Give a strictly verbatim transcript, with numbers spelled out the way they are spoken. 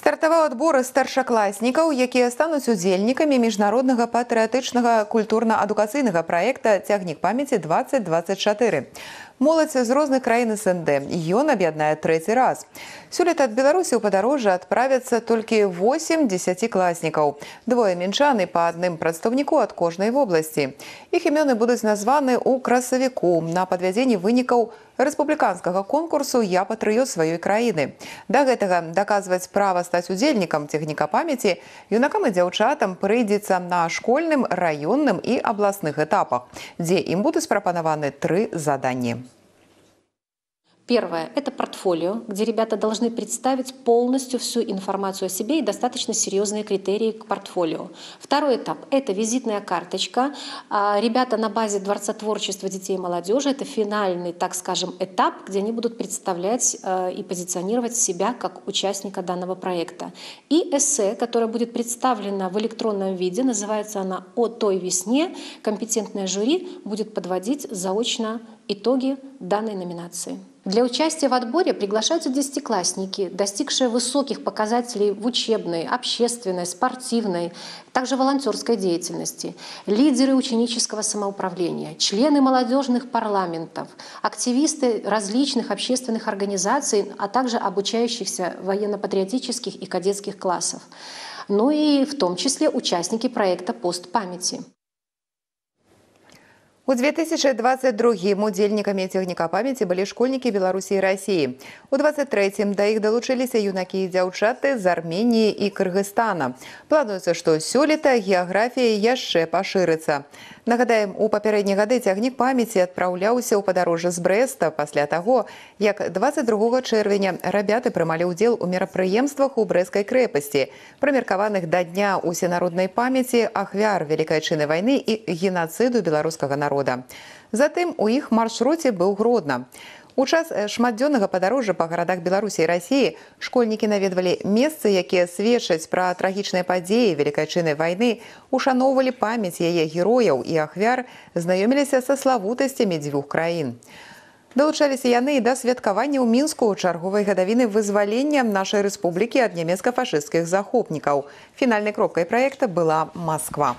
Стартаваў адбор старшакласнікаў, якія стануць удзельнікамі міжнароднага патрыятычнага культурна-адукацыйнага праекта «Цягнік памяці двадцать двадцать чатыры». Моладзь з розных краін СНД. Ён аб'яднае трэці раз. Сёлета ад Беларусі ў падарожжа адправяцца толькі восем дзесяцікласнікаў. Двое мінчан і па адным прадстаўніку ад кожнай вобласці. Іх імёны будуць названы ў красавіку на падвядзенні вынікаў рэспубліканскага конкурсу «Я патрыёт сваёй краіны». Да гэтага даказваць права стаць удзельнікам цягніка памяці юнакам і дзяўчатам прыйдзецца на школьным, раённым і абласных этапах, дзе ім будуць прапанаваны тры заданні. Первое – это портфолио, где ребята должны представить полностью всю информацию о себе и достаточно серьезные критерии к портфолио. Второй этап – это визитная карточка. Ребята на базе Дворца творчества детей и молодежи – это финальный, так скажем, этап, где они будут представлять и позиционировать себя как участника данного проекта. И эссе, которое будет представлено в электронном виде, называется она «О той весне». Компетентное жюри будет подводить заочно итоги данной номинации. Для участия в отборе приглашаются десятиклассники, достигшие высоких показателей в учебной, общественной, спортивной, также волонтерской деятельности, лидеры ученического самоуправления, члены молодежных парламентов, активисты различных общественных организаций, а также обучающихся военно-патриотических и кадетских классов. Ну и в том числе участники проекта «Пост памяти». У две тысячи двадцать другім удзельнікамі цягніка памяці былі школьнікі Беларусі і Расіі. У двадцать трэцім да іх далучыліся юнакі і дзяўчаты з Арменіі і Кыргызстана. Плануецца, што сёлета геаграфія яшчэ пашырыцца. Нагадаем, у папярэднія гады цягнік памяці адпраўляўся ў падарожжа з Брэста пасля таго, як двадцать другога чэрвеня рабяты прымалі ўдзел у мерапрыемствах у Брэсцкай крэпасці, прымеркаваных да дня усенароднай памяці ахвяр Вялікай Айчыннай вайны і генацыду беларускага народа. Затым у іх маршруце быў Гродна. У час шматдзённага падарожжа па гарадах Беларусі і Расіі школьнікі наведвалі месцы, якія сведчаць пра трагічныя падзеі Вялікай Айчыннай вайны, ушаноўвалі памяць яе герояў і ахвяр, знаёміліся са славутасцямі дзвюх краін. Далучаліся яны і да святкавання ў Мінску ў чарговай гадавіны вызвалення нашай рэспублікі ад нямецка-фашысцкіх захопнікаў. Фінальнай кропкай праекта была Масква.